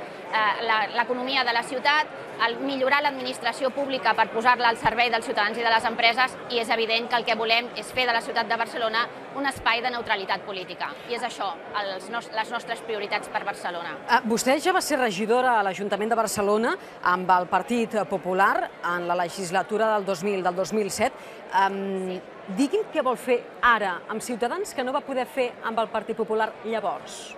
l'economia de la ciutat, millorar l'administració pública per posar-la al servei dels ciutadans i de les empreses, i és evident que el que volem és fer de la ciutat de Barcelona un espai de neutralitat política. I és això, les nostres prioritats per Barcelona. Vostè ja va ser regidora a l'Ajuntament de Barcelona amb el Partit Popular en la legislatura del dos mil set. Digui'm què vol fer ara amb Ciutadans que no va poder fer amb el Partit Popular llavors?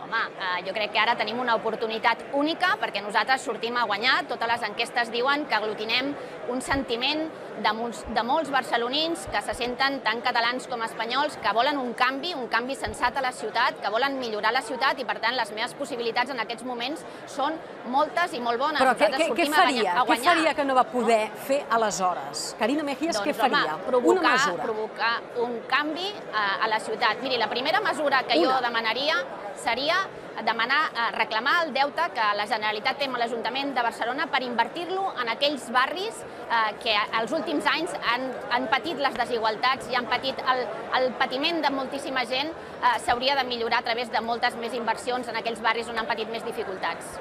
Home, jo crec que ara tenim una oportunitat única perquè nosaltres sortim a guanyar. Totes les enquestes diuen que aglutinem un sentiment de molts, de molts barcelonins que se senten tant catalans com espanyols, que volen un canvi, un canvi sensat a la ciutat, que volen millorar la ciutat i, per tant, les meves possibilitats en aquests moments són moltes i molt bones. Però què, què, què faria? Què faria que no va poder fer aleshores? Carina Mejías, què faria? Una mesura. Provocar un canvi a la ciutat. Miri, la primera mesura que jo demanaria seria demanar, reclamar el deute que la Generalitat té amb l'Ajuntament de Barcelona per invertir-lo en aquells barris que els últims anys han patit les desigualtats i han patit el patiment de moltíssima gent. S'hauria de millorar a través de moltes més inversions en aquells barris on han patit més dificultats.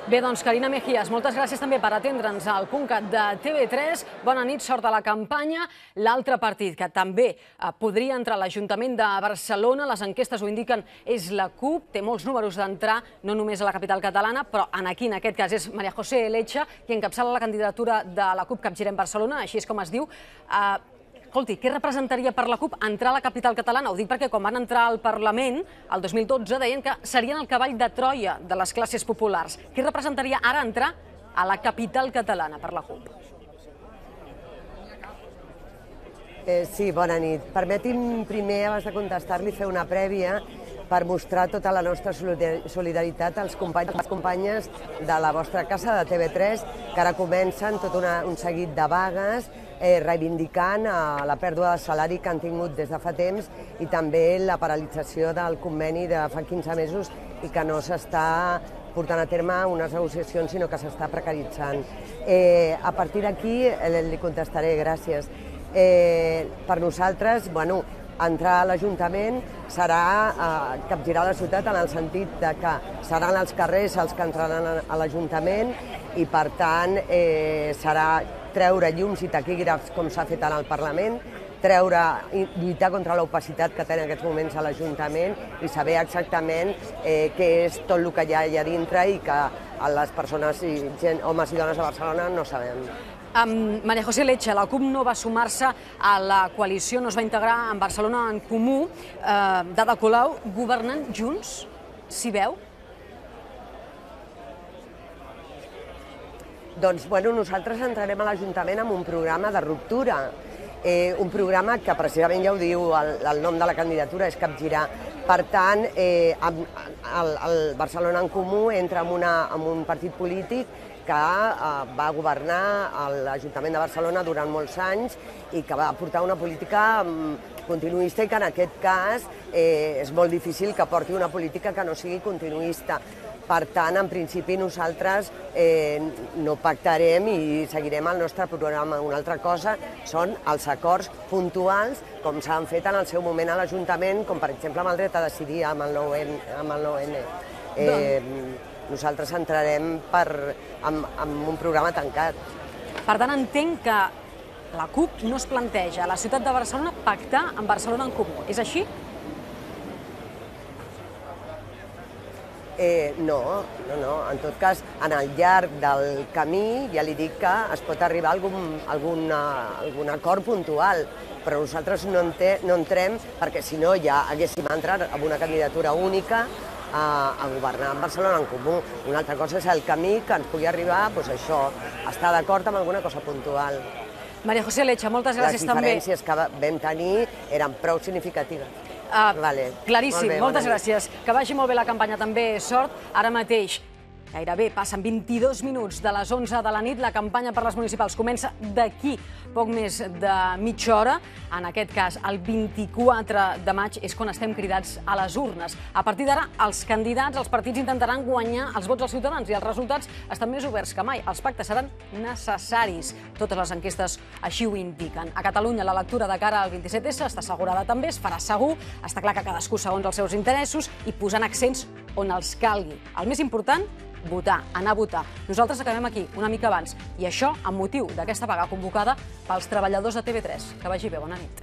Bé, doncs, Carina Mejías, moltes gràcies també per atendre'ns al punt cat de T V tres. Bona nit, sort a la campanya. L'altre partit que també podria entrar a l'Ajuntament de Barcelona, les enquestes ho indiquen, és la CUP. Té molts números d'entrar, no només a la capital catalana, però aquí, en aquest cas, és María José Lecha, qui encapçala la candidatura de la CUP Capgirem Barcelona, així és com es diu. Escolti, què representaria per la CUP entrar a la capital catalana? Ho dic perquè quan van entrar al Parlament, el dos mil dotze, deien que serien el cavall de Troia de les classes populars. Què representaria ara entrar a la capital catalana per la CUP? Sí, bona nit. Permeti'm primer, abans de contestar-li, fer una prèvia per mostrar tota la nostra solidaritat als companys i les companyes de la vostra casa, de T V tres, que ara comencen tot un seguit de vagues reivindicant la pèrdua de salari que han tingut des de fa temps i també la paralització del conveni de fa quinze mesos i que no s'està portant a terme unes negociacions, sinó que s'està precaritzant. A partir d'aquí li contestaré, gràcies. Per nosaltres, bueno, entrar a l'Ajuntament serà capgirar la ciutat en el sentit que seran els carrers els que entraran a l'Ajuntament i, per tant, serà treure llums i taquígrafs com s'ha fet al Parlament, treure, lluitar contra l'opacitat que té en aquests moments a l'Ajuntament i saber exactament què és tot el que hi ha allà dintre i que les persones, homes i dones de Barcelona, no sabem. María José Lecha, la CUP no va sumar-se a la coalició, no es va integrar en Barcelona en Comú. D'Ada Colau, governant junts, s'hi veu? Doncs, bueno, nosaltres entrarem a l'Ajuntament amb un programa de ruptura, un programa que precisament ja ho diu, el nom de la candidatura és capgirar. Per tant, el Barcelona en Comú entra en un partit polític que va governar a l'Ajuntament de Barcelona durant molts anys i que va portar una política continuista i que en aquest cas és molt difícil que porti una política que no sigui continuista. Per tant, en principi nosaltres no pactarem i seguirem el nostre programa. Una altra cosa són els acords puntuals, com s'han fet en el seu moment a l'Ajuntament, com per exemple amb el dret a decidir amb el nou N. Nosaltres entrarem amb un programa tancat. Per tant, entenc que la CUP no es planteja a la ciutat de Barcelona pactar amb Barcelona en Comú. És així? No, no, no. En tot cas, en el llarg del camí ja li dic que es pot arribar a algun acord puntual, però nosaltres no entrem perquè si no ja haguéssim entrat amb una candidatura única a governar en Barcelona en Comú. Una altra cosa és el camí que ens pugui arribar, doncs això, estar d'acord amb alguna cosa puntual. María José Lecha, moltes gràcies també. Les diferències que vam tenir eren prou significatives. Claríssim, moltes gràcies. Que vagi molt bé la campanya també, sort. Ara mateix, gairebé passen vint-i-dos minuts de les onze de la nit, la campanya per les municipals comença d'aquí poc més de mitja hora. En aquest cas, el vint-i-quatre de maig és quan estem cridats a les urnes. A partir d'ara, els candidats, els partits intentaran guanyar els vots dels ciutadans i els resultats estan més oberts que mai. Els pactes seran necessaris. Totes les enquestes així ho indiquen. A Catalunya, la lectura de cara al vint-i-set essa està assegurada també, es farà segur. Està clar que cadascú segons els seus interessos i posant accents on els calgui. El més important, votar, anar a votar. Nosaltres acabem aquí, una mica abans, i això amb motiu d'aquesta vaga convocada pels treballadors de T V tres. Que vagi bé, bona nit.